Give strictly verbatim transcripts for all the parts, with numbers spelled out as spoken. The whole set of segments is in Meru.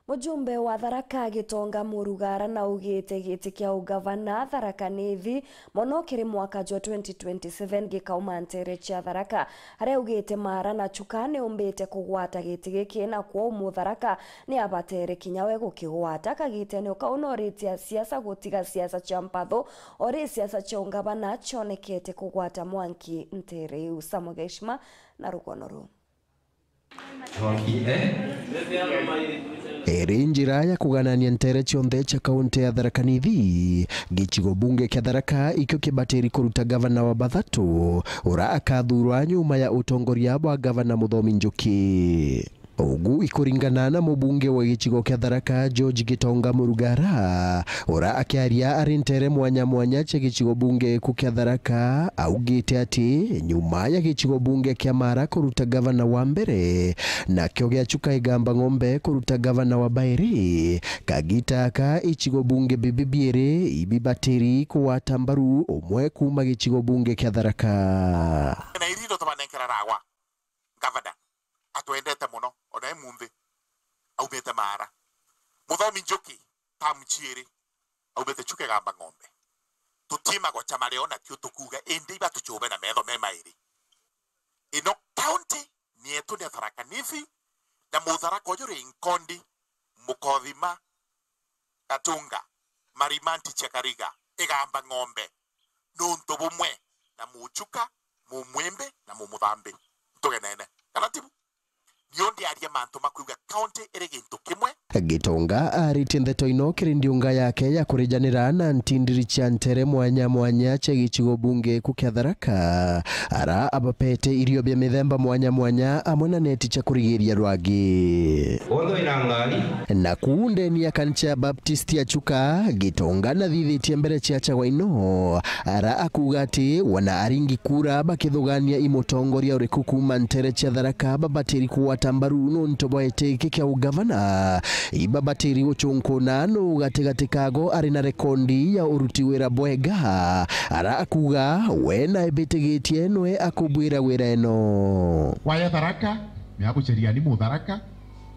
Mujumbe wa Tharaka Gitonga Murugara naugite giti kia ugavana Tharaka Nithi mono kiri mwaka jwa twenty twenty-seven gikauma ntere cia Tharaka, aria augite Mara na Chuka niumbite kugwata giti giki, na kwou Mutharaka ni abatere kinya we gukigwata. Kagitene ukau noritie asiasa gutiga siasa cia mpatho, ori siasa cia ungavana cionekete kugwata mwanki ntere iu. Samuel Gaishima na rugono ruu. Iri njira ya kuganania ntere cionthe cia kaunti ya Tharaka Nithi, gicigo bunge kia Tharaka ikio kibatiri kuruta gavana wa bathatu, ura akathurwa nyuma ya utongoria bwa gavana Muthomi Njuki. Ugu ikuringana na mubunge wa gicigo kia Tharaka, George Gitonga Murugara, ura akiaria ari ntere mwanya mwanya cia gicigo bunge ku kia Tharaka, augite ati nyuma ya gicigo bunge kia Mara kuruta gavana wa mbere, nakio gia Chuka Igamba Ng'ombe kuruta gavana wa bairi, kagita aka icigo bunge bibi biiri ibibatiri kugwata mbaru umwe kuuma gicigo bunge kia Tharaka. Na iri ndo tubanenkera ragwa. Ngavana atwendete mono, ona e munthi aumite Mara. Muthomi Njuki, tamu ciiri, aumite Chuka Igamba Ng'ombe. Tutimagoca mario nakio tukuuga, indi iba tucube na metho me mairi. Ino kaunti ni yetu, ni Tharaka Nithi, na Mutharaka uju ri nkondi, Mukothima, Gatunga, Marimanti cia Kariga, Igamba Ng'ombe, nuntu bumwe na Muchuka, Mumwimbi na Mumuthambi. Ntugenene. Kana tibu? Nio ndiaria mantu ma kuuga kaunti iri gintu kimwe. Gitonga aritie ndeto ino kiri ndiunga yake ya kurijanira na ntindiri cia ntere mwanya mwanya cia gicigo bunge ku kia Tharaka, ara abapete irio bia mithemba mwanya mwanya amwe na neti cia kurigiria rwagi. Bonthe baina ngari. Naku ndeni ya kanisa ya Baptist ya Chuka, Gitonga nathithitie mbere cia chagwa ino, ara akuuga ati wana aringi kura bakithugania i mutongoria uriku kuuma ntere cia Tharaka babatiri kugwata mbaru nontu bwa giti giki kia ugavana. Ibabatiri gucunkuna nu gatigati kago ari na rekondi ya uruti wira bwega, ara akuuga we naibitigitie nwe akubwira wira ino. Kwaya Tharaka, ni aguceriani Mutharaka,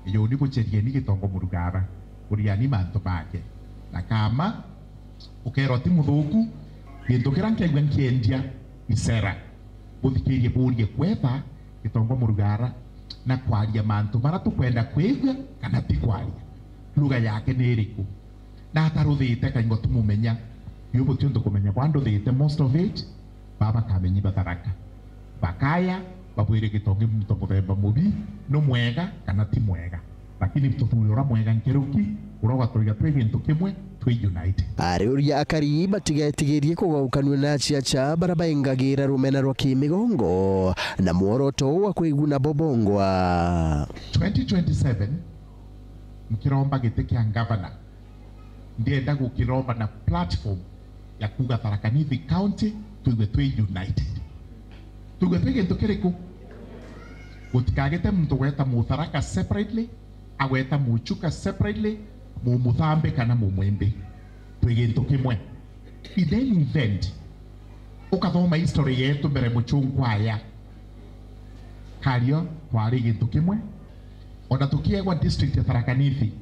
ijuni bucerieni Gitonga Murugara, buriani mantu make. Na kama ukeerwa ti muthuku, gintu kiria nkiaigua nkiendia ni sera. Buthikirie burie kwetha Gitonga Murugara na kwaria mantu maria tukwenda kwigua kana ti kwaria. Lugha yake ni iriku? Na ataruthite kaingo tumumenya. Biu butionthe kumenya bwa nduthite most of it, baba kamenyi ba Tharaka. Bakaya, babwire Gitonga muntu muthemba mubi, no mwega kana ti mwega. Lakini tuthure uria mwega nkeruki, uria ugatwiga twi gintu kimwe, twi united. Ariuria akari batigetigirie kugaukanua na aciaca baria baingagira rumena rwa kimigongo na mworoto wa kwiguna bobongwa. Twenty twenty-seven, nkiromba giti kia ngavana, ndienda gukiromba na platform ya kuuga Tharaka Nithi County, twigue twi united. Twigue twi gintu kiriku? Gutikagite muntu gweta Mutharaka separately, agweta Muchuka separately, Mumuthambi kana Mumwimbi. Twi gintu kimwe. In any event, ukathoma history yetu mbere muchunkwaya. Kario twari gintu kimwe. Ona tukiegwa district ya Tharaka Nithi,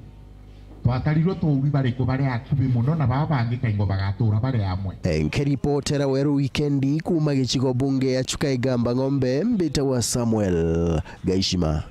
twatarirwe tuuri bariku bari akubi muno na baba bangi kaingo bagatuura bari amwe. Nkiripotera Weru Wikendi kuuma gicigo bunge ya Chuka Igamba Ng'ombe, mbitagwa Samuel Gaishima.